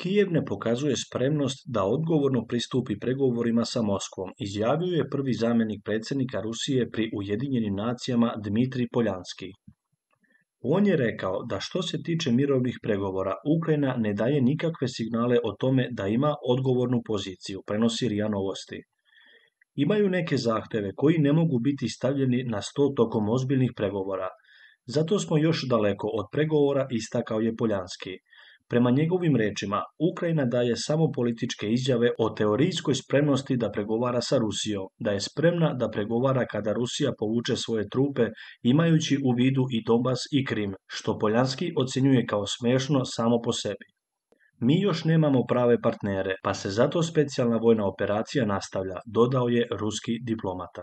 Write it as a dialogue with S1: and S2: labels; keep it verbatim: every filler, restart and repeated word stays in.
S1: Kijev ne pokazuje spremnost da odgovorno pristupi pregovorima sa Moskvom, izjavio je prvi zamjenik predsjednika Rusije pri Ujedinjenim nacijama Dmitrij Poljanski. On je rekao da što se tiče mirovnih pregovora, Ukrajina ne daje nikakve signale o tome da ima odgovornu poziciju, prenosi R I A Novosti. Imaju neke zahtjeve koji ne mogu biti stavljeni na sto tokom ozbiljnih pregovora. Zato smo još daleko od pregovora, istakao je Poljanski. Prema njegovim rečima, Ukrajina daje samo političke izjave o teorijskoj spremnosti da pregovara sa Rusijom, da je spremna da pregovara kada Rusija povuče svoje trupe, imajući u vidu i Donbas i Krim, što Poljanski ocjenjuje kao smiješno samo po sebi. Mi još nemamo prave partnere, pa se zato specijalna vojna operacija nastavlja, dodao je ruski diplomata.